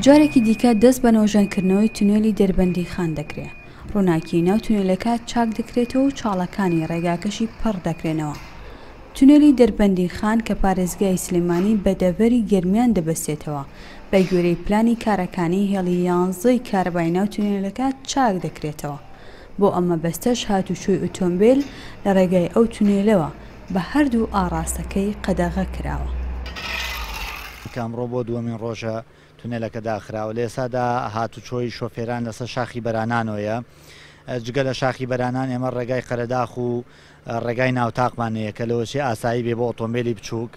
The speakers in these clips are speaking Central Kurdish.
جارێکی دیکە دەست بە نۆژەنکردنەوەی تونێلی دەربەندیخان دەکرێ، ڕووناکیی ناو تونێلەکە چاک دەکرێتەوە و چاڵەکانی ڕێگاکەشی پڕ دەکرێنەوە. تونێلی دەربەندیخان کە پارێزگای سلێمانی بە دەڤەری گەرمیان دەبەستێتەوە، بە گوێرەی پلانی کارەکانی هێڵی یانزەی کارەبای ناو تونێلەکە چاک دەکرێتەوە. بۆ ئەم مەبەستەش هاتوچۆی ئۆتۆمبێل لە ڕێگای ئەو تونێلەوە بە هەردوو ئاڕاستەکەی قەدەغە کراوە. کە ئەمڕۆ بۆ دووەمین ڕۆژە تونێلەکە داخراوە، لە ئێستادا هاتوچۆی شۆفێران لەسەر شاخی بەرانانەوەیە، جگە لە شاخی بەرانان ئێمە ڕێگای قەرەداخ و ڕێگای ناوتاقمان هەیە کە لەوەچێ ئاسایی بێ بۆ ئۆتۆمبێلی بچووک،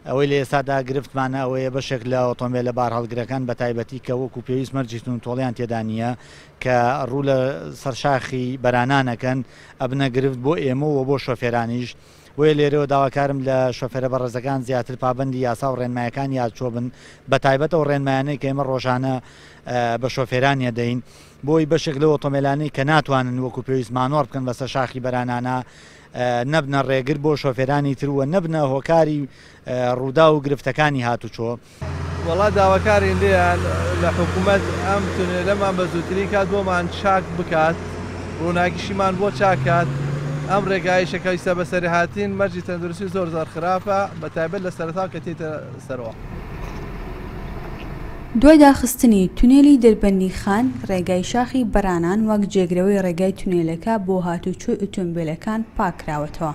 ئەوەی لە ئێستادا گرفتمانە ئەوەیە بەشێک لە ئۆتۆمبێلە بارهەڵگرەکان بەتایبەتی کە وەکو پێویست مەرجی توندوتۆڵیان تێدا نییە کە ڕوو لە سەر شاخی بەرانان ئەکەن ئەبنە گرفت بۆ ئێمە و بۆ شۆفێرانیش، بۆیە لێرەوە داواکارم لە شۆفێرە بەڕێزەکان زیاتر پابەندی یاسا و ڕێنمایەکانی هاتوچۆ بن بەتایبەت ئەو ڕێنمایانەی کە ئێمە ڕۆژانە بە شۆفێرانی ئەدەین بۆی بەشێک لەو ئۆتۆمبێلانەی کە ناتوانن وەکو پێویست مانۆڕ بکەن بەسەر شاخی بەرانانا نەبنە ڕێگر بۆ شۆفێرانی تر و نەبنە هۆکاری ڕووداو و گرفتەکانی هاتوچۆ. وەڵا داواکارین لێیان لە حکومەت ئەم تونێلەمان بە زووترین کات بۆمان چاک بکات ڕووناکیشیمان بۆ چاک کات ئەم ڕێگایشە کە ئیستا بەسەری هاتین مەرجی تەندروستی زۆر زۆر خراپە بە تایبەت لە سەرەتاوە کە تێیتە سەرەوە. دوای داخستنی تونێلی دەربەندیخان، ڕێگای شاخی بەرانان وەک جێگرەوەی ڕێگای تونێلەکە بۆ هاتوچۆی ئۆتۆمبێلەکان پاککراوەتەوە،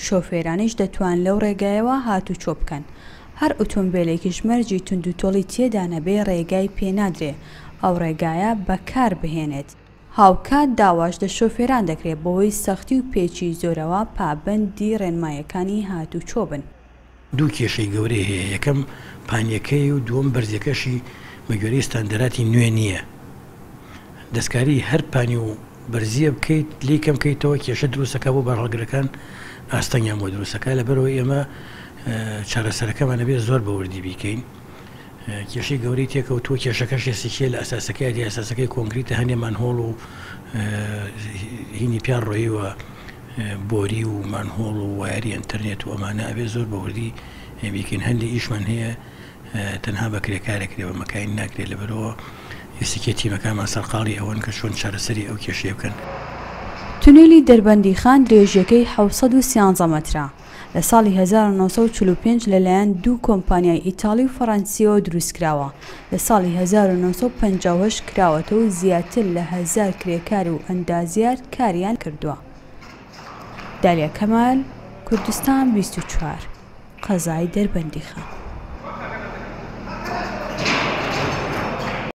شۆفێرانیش دەتوان لەو ڕێگایەوە هاتوچۆ بکەن. هەر ئۆتۆمبێلێکیش مەرجی توندوتۆڵی تێدا نەبێ ڕێگای پێ نادرێ ئەو ڕێگایە بەکار بهێنێت. هاوکات داواش لە شۆفێران دەکرێ بەهۆی سەختی و پێچی زۆرەوە پابەندی ڕێنماییەکانی هاتوچۆ بن. دوو کێشەی گەورەی هەیە، یەکەم پانیەکەی و دووەم بەرزیەکەشی بە گوێرەی ستاندەراتی نوێ نییە. دەستکاری هەر پانی و بەرزیە بکەیت لێی کەم کەیتەوە کێشە دروست ئەکا بۆ بارهەڵگرەکان ئاستەنگیان بۆ دروست ئەکا لەبەرئەوەی ئێمە چارەسەرەکەمان ئەبێ زۆر بە وردی بیکەین کێشەی گەورەی تێکەوتووە کێشەکەش ئێسیکیە لە ئەساسەکەی دی ئەساسەکەی کۆنکریتە هەنێ مانهۆڵ و هینی پیان ڕۆیوە بۆری و مانهۆڵ و وایەری ئینتەرنێت و ئەمانە ئەبێ زۆر بە وردی بیکەین هەندێ ئیشمان هەیە تەنها بە کرێکار ئەکرێ بە مەکاین ناکرێت لەبەرئەوە ئێستەکێ تیمەکانمان سەرقاڵی ئەوەن کە چۆن چارەسەری ئەو کێشەیە بکەن. تونێلی دەربەندیخان درێژیەکەی 713 مەترە، لە ساڵی 1945 لەلایەن دوو کۆمپانیای ئیتاڵی و فەڕەنسییەوە دروستکراوە، لە ساڵی 1958 کراوەتەوە و زیاتر لە هەزار کرێکار و ئەندازیار کاریان کردووە. دالیا کەمال، کوردستان 24، قەزای دەربەندیخان.